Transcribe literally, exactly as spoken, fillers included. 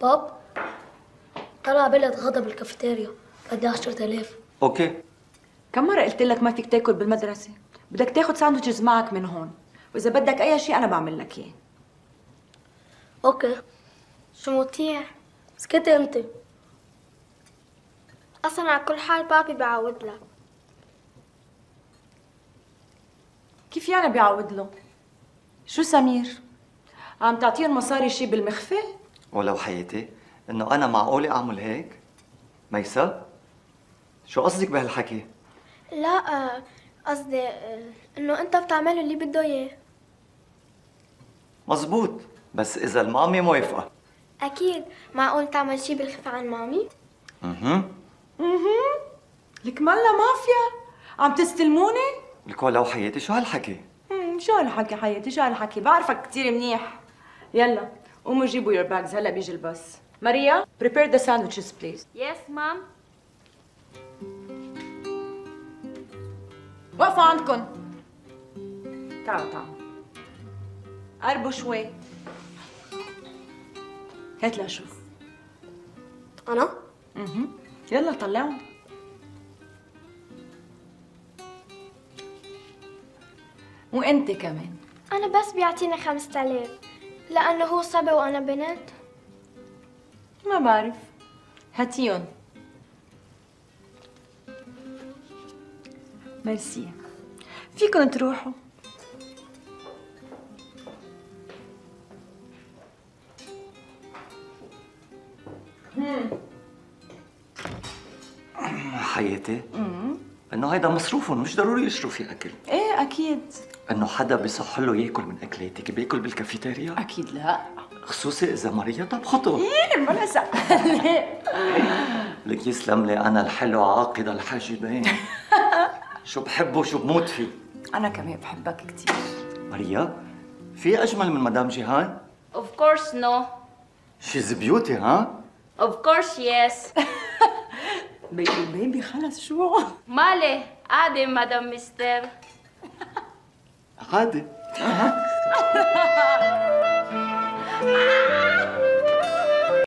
باب، أنا عبالي أتغدى بالكافيتيريا، بدي عشرة آلاف. اوكي. كم مرة قلت لك ما فيك تاكل بالمدرسة؟ بدك تاخد ساندويتشز معك من هون، وإذا بدك أي شيء أنا بعمل لك إياه. أوكي. شو مطيع؟ اسكتي أنت. أصلا على كل حال بابي بعود لك. كيف يعني بيعود له؟ شو سمير؟ عم تعطيهم مصاري شي بالمخفى؟ ولو حياتي انه انا معقولة اعمل هيك؟ ميسا؟ شو قصدك بهالحكي؟ لا آه، قصدي آه، إنه أنت بتعمله اللي بده إياه. مزبوط، بس اذا المامي موافقة. أكيد، معقول تعمل شي بالخفة عن مامي؟ اها اها لك مالنا مافيا؟ عم تستلموني؟ لك ولو حياتي شو هالحكي؟ امم شو هالحكي حياتي، شو هالحكي؟ بعرفك كثير منيح. يلا قوموا جيبوا your bags، هلا بيجي الباص. ماريا prepare the sandwiches please. Yes, mom. وقفوا عندكم. تعالوا تعالوا. قربوا شوي. هات لأشوف. أنا؟ اها يلا طلعهم. وانت كمان. أنا بس بيعطيني خمسة آلاف لأنه هو صبي وأنا بنت. ما بعرف. هاتيهم. ميرسي. فيكن تروحوا. حياتي انه هيدا مصروفهم، مش ضروري يشتروا فيه اكل. ايه اكيد. انه حدا بيصح له ياكل من اكلاتك بياكل بالكافيتيريا؟ اكيد لا. خصوصي اذا ماريا طبخته. ايه ما لسه. لك يسلم لي انا الحلو عاقد الحاجبين. شو بحبه وشو بموت فيه. انا كمان بحبك كثير. ماريا، في اجمل من مدام جيهان؟ Of course, no. شيز بيوتي ها؟ Of course, yes. بيبي بيبي خلص شو؟ مالي عادي مدام مستر. عادي.